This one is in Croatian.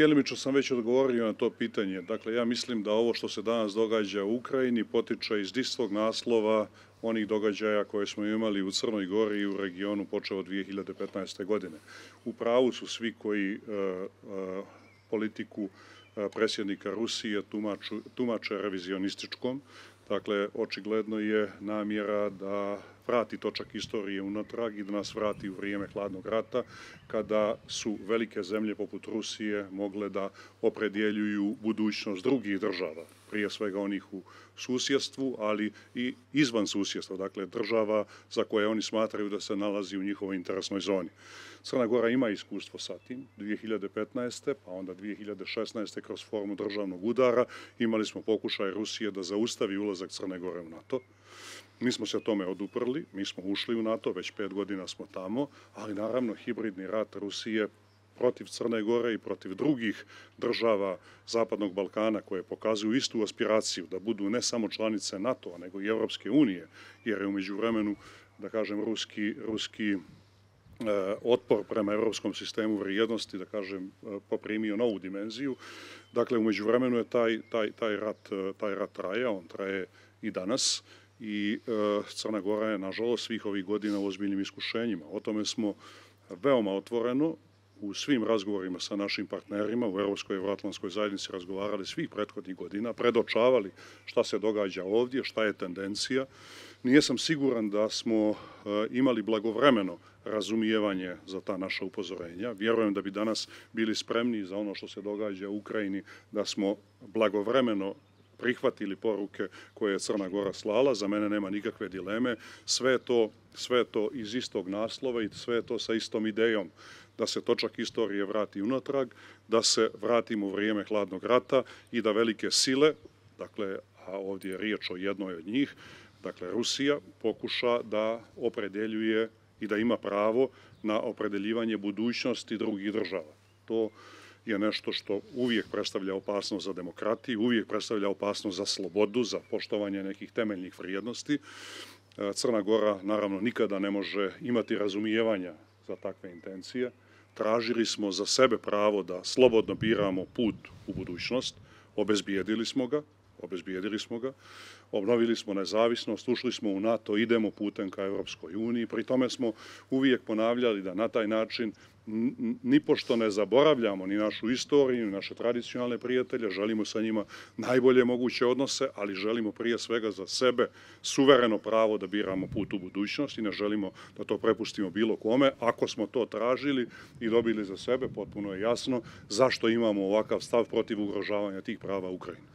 Djelimično sam već odgovorio na to pitanje. Dakle, ja mislim da ovo što se danas događa u Ukrajini potiče iz istog naslova onih događaja koje smo imali u Crnoj Gori i u regionu počeo od 2015. godine. U pravu su svi koji politiku predsjednika Rusije tumače revizionističkom. Dakle, očigledno je namjera da vrati točak istorije unatrag i da nas vrati u vrijeme hladnog rata, kada su velike zemlje poput Rusije mogle da opredjeljuju budućnost drugih država, prije svega onih u susjedstvu, ali i izvan susjedstva, dakle država za koje oni smatraju da se nalazi u njihovoj interesnoj zoni. Crna Gora ima iskustvo sa tim, 2015. pa onda 2016. kroz formu državnog udara imali smo pokušaj Rusije da zaustavi ulazak Crne Gore u NATO. Mi smo se tome oduprli, mi smo ušli u NATO, već 5 godina smo tamo, ali naravno hibridni rat Rusije protiv Crne Gore i protiv drugih država Zapadnog Balkana koje pokazuju istu aspiraciju da budu ne samo članice NATO-a nego i Europske unije, jer je u međuvremenu, da kažem, ruski otpor prema europskom sistemu vrijednosti, da kažem, poprimio novu dimenziju. Dakle, u međuvremenu je taj rat traje, on traje i danas i Crna Gora je, nažalost, svih ovih godina u ozbiljnim iskušenjima. O tome smo veoma otvoreno u svim razgovorima sa našim partnerima u Europskoj i Euroatlantskoj zajednici razgovarali svih prethodnih godina, predočavali šta se događa ovdje, šta je tendencija. Nisam siguran da smo imali blagovremeno razumijevanje za ta naša upozorenja. Vjerujem da bi danas bili spremni za ono što se događa u Ukrajini, da smo blagovremeno prihvatili poruke koje je Crna Gora slala. Za mene nema nikakve dileme. Sve je to iz istog naslova i sve je to sa istom idejom da se točak istorije vrati unatrag, da se vratimo u vrijeme hladnog rata i da velike sile, dakle, a ovdje je riječ o jednoj od njih, dakle Rusija, pokuša da opredjeljuje i da ima pravo na opredeljivanje budućnosti drugih država. To je nešto što uvijek predstavlja opasnost za demokratiju, uvijek predstavlja opasnost za slobodu, za poštovanje nekih temeljnih vrijednosti. Crna Gora, naravno, nikada ne može imati razumijevanja za takve intencije. Tražili smo za sebe pravo da slobodno biramo put u budućnost, obezbijedili smo ga, obnovili smo nezavisnost, ušli smo u NATO, idemo putem ka Europskoj uniji. Pri tome smo uvijek ponavljali da na taj način nipošto ne zaboravljamo ni našu istoriju, ni naše tradicionalne prijatelje, želimo sa njima najbolje moguće odnose, ali želimo prije svega za sebe suvereno pravo da biramo put u budućnost i ne želimo da to prepustimo bilo kome. Ako smo to tražili i dobili za sebe, potpuno je jasno zašto imamo ovakav stav protiv ugrožavanja tih prava Ukrajine.